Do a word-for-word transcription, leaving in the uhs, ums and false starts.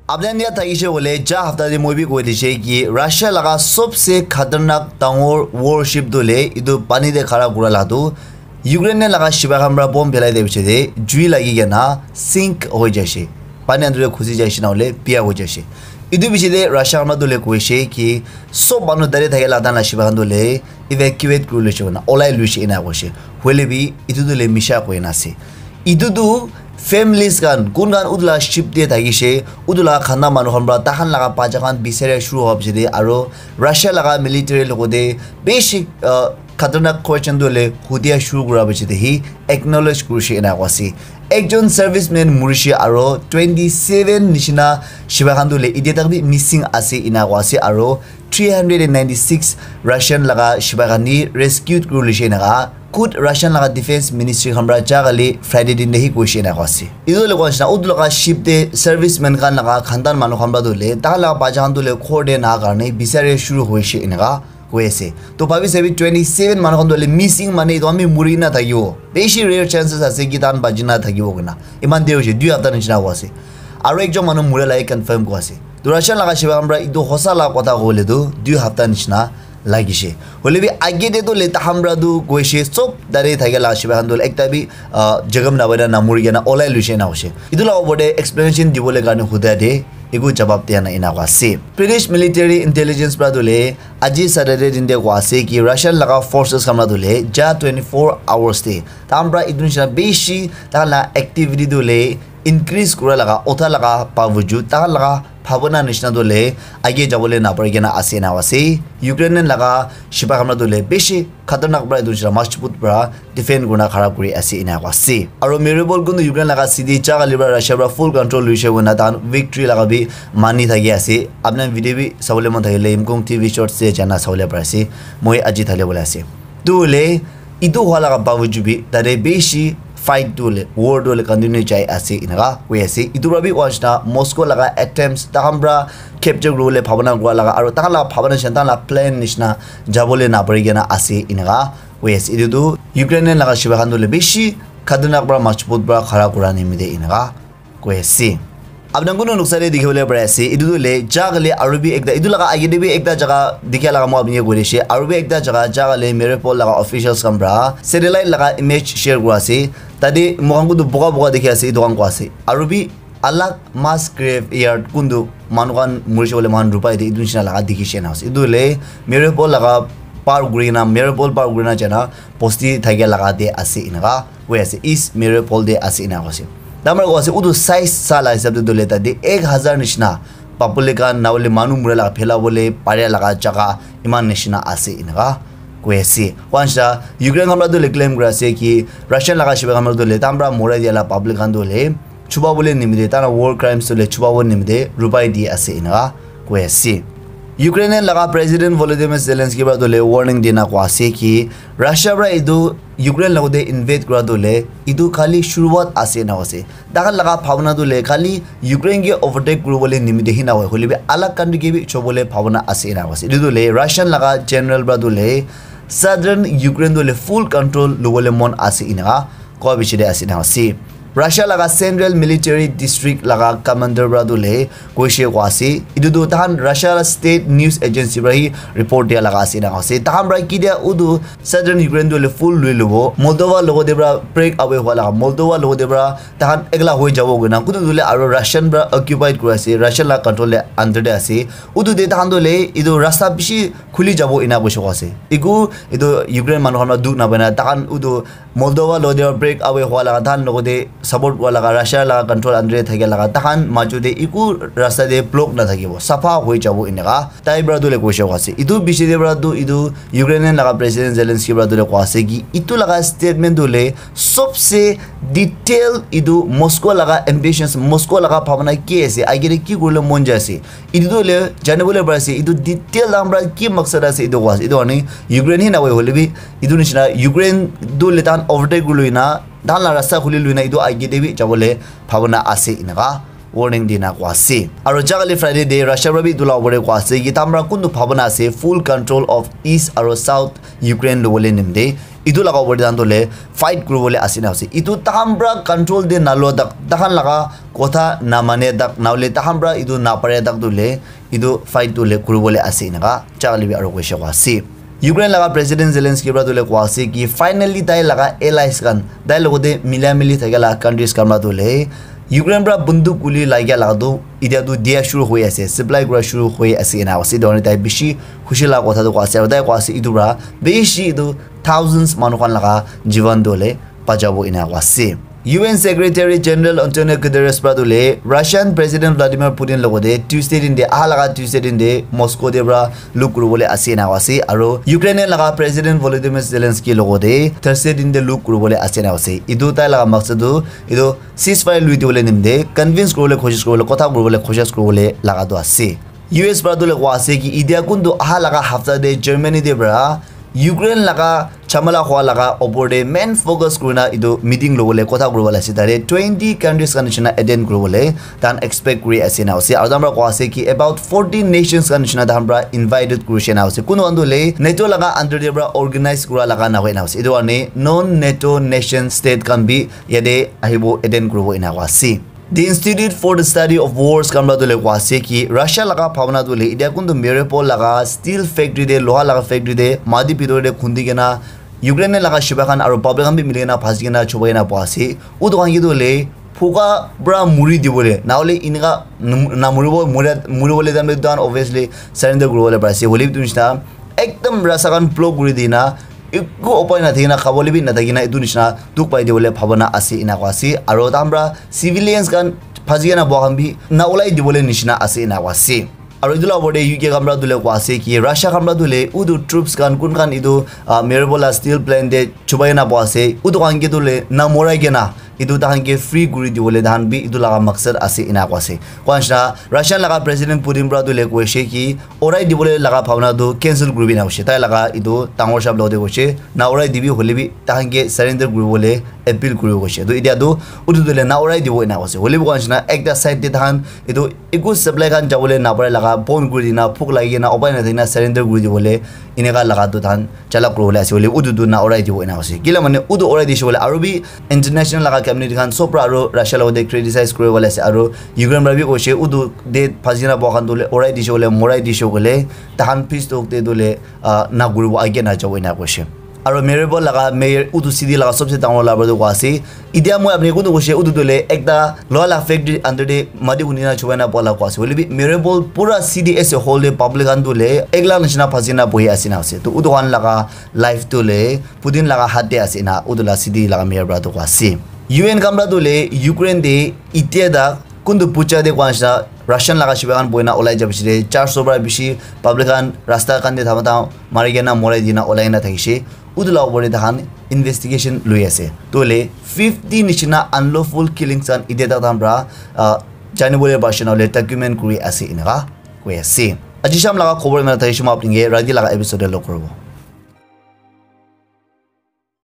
Apni khan yaad thakishe koile, ja hafta te moi bi koi dishe ki Russia laga sobse khatarnak dangor warship tu le etu pani te khara kura la tu Ukraine laga shipai khan para bomb phelai dia piche te jui lagi kena sink hoi jaishe. Pani andur te khusi jaishe na hole biya hoi jaishe. Etu piche te Russia khan para tu le koishe ki sob manu tade thake la tan la shipai khan tu le evacuate kuri loishe koina olai loishe ena koishe. Hoile bi etu tu le misha koi na ase. Etu tu families khan kun khan utu la ship te thakishe, utu la khanda manu khan para tahan laga bacha khan bisari shuru howa piche te aro Russia laga military logote bishi, uh, khatarnak question tu le hudia shuru kura piche te hi acknowledge kurishe ena koa ase. Ekjon serviceman murishe aro twenty seven nishina shipai khan tu le etia tak bi missing ase ena koa ase aro three hundred and ninety six Russian laga shipai khan ni rescued kuri lishe ena ka khud Russian laga defense ministry khan para ja kali Friday din te hi koishe ena koa ase. Etu le koa nishina utu laga ship te serviceman khan laga khandan manu khan para tu le tahan laga bacha khan tu le khor de na karne bisari shuru hoishe ena ka koi ase. To bhabi sabi twenty seven manu khan tu le missing mane etu ami muri na thakibo. Bishi rare chances ase ki tahan baji na thakibo koina. Iman der hoishe, dui hafta nishina howa ase. Aro ekjon manu mura la confirm koa ase. To Russia laga shipai khan para etu hosa la kotha kobole tu dui hafta nishina lagishe. Hoile bi age te tu le tahan para tu koishe sob tade thake la shipai khan tu le ekta bi, ah, jagam na baina na muri kena olai loishe na hoishe. Etu la opor te explanation dibole karne huda te eku jawab dia na ena koa ase. British military intelligence para tu le aji Saturday din te koa ase ki Russian laga forces khan para tu le ja twenty four hours te tahan para etu nishina bishi tahan la activity tu le increase kura laga, utha laga bawajud, tahan laga bhabana nishina tu le age jabole napari kena ase na ase. Ukraine laga shipai khan para tu le bishi khatarnak para etu nishina majbut para defend kurna khara kuri ase ena koa ase. Aro Mariupol kuntu Ukraine laga city ja kali para Russia para full control loishe koina tahan victory laga bi mani thaki ase. Apni khan video bi sabole mon thakile Imkong T V shorts te jana sabole pari ase. Moi aji thale bole ase. Tu le etu hua laga bawajud bi tade bishi fight tu le, war tu le continue jai ase ena ka koi ase. Etu para bi koa nishina Moscow laga attempts tahan para capture kuribole bhabana kura laga aro tahan laga bhabana nishina tahan laga plan nishina jabole napari kena ase ena ka koi ase. Etu tu Ukraine laga shipai khan tu le bishi khatarnak para majbut para khara kura nimite ena ka koi ase. Apni khan kunu noksa te dikhi bole pari ase. Etu tu le ja kali aro bi ekta, etu laga age te bi ekta jaga dikha laga moi apni ke koi dishe. Aro bi ekta jaga ja kali Mariupol laga officials khan para satellite laga image share kura ase. Tade moi khan kuntu boga boga dikhi ase, etu khan koa ase. Aro bi alag mass grave yard kuntu manu khan murishe koile moi khan rupai de etu nishina laga dikhishe na ase. Etu le Mariupol laga par kuri na, Mariupol par kuri na jana bosti thake laga te ase ena ka koi ase, East Mariupol te ase ena koa ase. Tahan para koa ase utu size sa la hisab te tu le tade ek hazar nishina public khan na hole manu mura laga phela bole pare laga jaga iman nishina ase ena ka koi ase. Koa nishina Ukraine khan para tu le claim kura ase ki Russian laga shipai khan para tu le tahan para mura dia la public khan tu le chuba bole nimite, tahan la war crimes tu le chuba bole nimite rupai di ase ena ka koi ase. Ukraine laga President Volodymyr Zelensky para tu le warning dina koa ase ki Russia para etu Ukraine logote invade kura tu le etu khali shuruwat ase ena koa ase. Tahan laga bhabana tu le khali Ukraine ke overtake kuribole nimite hi na hoi, hoile bi alag country ke bi chobole bhabana ase ena koa ase. Etu tu le Russian laga general para tu le southern Ukraine tu le full control lobole mon ase ena ka koa piche te ase ena ase. Russia laga Central Military District laga commander para tu le koishe koa ase. Etu tu tahan Russia la state news agency para hi report dia laga ase ena ase. Tahan para kitia utu southern Ukraine tu le full lui lobo. Moldova logote para break away hua laga. Moldova logote para tahan ekla hoi jabo koina. Kutu tu le aro Russian para occupied kura ase. Russian la control le under te ase. Utu te tahan tu le etu rasta bishi khuli jabo ena koishe koa ase. Eku etu Ukraine manu khan para dukh na pai na tahan utu Moldova logote break away hua laga, tahan logote support kura laga, Russia laga control under te thakia laga, tahan majo te eku rasta te block na thakibo, sapha hoi jabo eneka tai para tu le koishe koa ase. Etu piche te para tu etu Ukrainian laga President Zelensky para tu le koa ase ki etu laga statement tu le sobse detail etu Moscow laga ambitions, Moscow laga bhabana ki ase, age te ki kuribole mon jai ase, etu tu le jani bole pari ase, etu detail tahan para ki maksad ase etu koa ase. Etu karne Ukraine hi na hoi hole bi etu nishina Ukraine tu le tahan overtake kuri loi na tahan la rasta khuli loi na etu age te bi jabole bhabana ase eneka warning dina koa ase. Aro ja kali Friday te Russia para bi etu la opor te koa ase ki tahan para kuntu bhabana ase full control of East aro South Ukraine lobole nimite Etu laga opor te tahan tu le fight kuribole ase na ase. Etu tahan pra control te nalua tak, tahan laga kotha namane tak, nahoile tahan pra etu napare tak tu le, etu fight tu le kuribole ase enaka Charlie bi aro koishe koa ase. Ukraine laga President Zelensky pra tu le koa ase ki finally tai laga allies khan, tai logote mila mili thakia laga countries khan pra tu le Ukraine pra bunduk guli lagia laga tu etia tu dia shuru hoi ase, supply kura shuru hoi ase ena ase. Etu karne tai bishi khushi laga kotha tu koa ase, aro tai koa ase etu pra bishi etu thousands manu khan laga jivan tu le bachabo ena koa ase. U N Secretary General Antonio Guterres pra tu le Russian President Vladimir Putin logote Tuesday din te, aha laga Tuesday din te Moscow te pra luk kuribole ase ena koa ase, aro Ukraine laga President Volodymyr Zelensky logote Thursday din te luk kuribole ase ena koa ase. Etu tai laga maksad tu etu ceasefire lui dibole nimite convince kuribole koshish kuribole, kotha kuribole koshish kuribole laga tu ase. U S pra tu le koa ase ki etia kuntu aha laga hafta te Germany te pra Ukraine laga chamala hua laga opor te main focus kurina etu meeting lobole kotha kuribole ase. Tate twenty countries khan nishina attend kuribole tahan expect kuri ase na ase. Aro tahan pra koa ase ki about forty nations khan nishina tahan pra invited kurishe na ase. Kunu khan tu le NATO laga under te pra organize kura laga na hoi na ase. Etu karne non NATO nation state khan bi yate ahibo attend kuribo ena koa ase. The Institute for the Study of Wars khan pra tu le koa ase ki Russia laga bhabna tu le etia kuntu Mariupol laga steel factory te, loha laga factory te mati bitor te khundi kena Ukraine laga shibai khan aro public khan bi mili kena phasi kena chubai kena boha ase. Utu khan ke tu le phuka pra muri dibole, nahoile eneka nam-, namuribo, muri, muribole time te tahan obviously surrender kuribole pari ase. Hoile bi etu nishina ekdam rasta khan block kuri dina, ekku upai nathakina, khabole bi nathakina, etu nishina dukh pai dibole bhabana ase, ena koa ase. Aro tahan pra civilians khan phasi kena boha khan bi na ulai dibole nishina ase, ena koa ase. Aro etu la opor te U K khan pra tu le koa ase ki Russia khan pra tu le utu troops khan kun khan etu, ah, Mariupol la steel plant te chubai kena boha ase, utu khan ke tu le na morai kena etu tahan ke free kuri dibole tahan bi etu laga maksad ase, ena koa ase. Koa nishina Russian laga President Putin pra tu le koishe ki orai dibole laga bhabna tu cancel kuribi na koishe. Tai laga etu dangor sahab logote koishe, na orai dibi, hoile bi tahan ke surrender kuribole appeal kuribo koishe. To etia tu utu tu le na orai dibo ena koise. Hoile bi koa nishina ekta side te tahan etu ekku supply khan jabole napare laga bon kuri dina, bhuk lagi kena upai nathakina surrender kuri dibole eneka laga tu tahan chala kuribole ase. Hoile utu tu na orai dibo ena koise. Kila mane utu orai dishe bole aro bi international laga community khan sob pra aro Russia logote criticize kuribole ase. Aro Ukraine pra bi koishe utu te phasi kena boha khan tu le orai dishe bole, morai dishe bole, tahan peace talk te tu le, ah, na kuribo, age na jabo ena koishe. Aro Mariupol laga mayor utu city laga sobse dangor labar tu koa ase. Etia moi apni kuntu koishe utu tu le ekta loha la factory under te mati khundi na chubai na boha la koa ase. Hoile bi Mariupol pura city as a whole te public khan tu le ek lakh nishina phasi na bohi ase na ase. To utu khan laga life tu le Putin laga hath te ase na utu la city laga mayor pra tu koa ase. U N khan pra tu le Ukraine te etia tak kuntu puja te koa nishina Russian laga shibai khan bohi na ulai ja piche te char so pra bishi public khan rasta khan te thama thama mari kena morai dina ulai na thakishe. Utu la opor te tahan investigation lui ase. To le fifty nishina unlawful killings khan etia tak tahan pra, ah, janibole parishe na hoile document kuri ase eneka koi ase. Aji sham laga khobor ena thakishe, moi apni ke rati laga episode te log kuribo.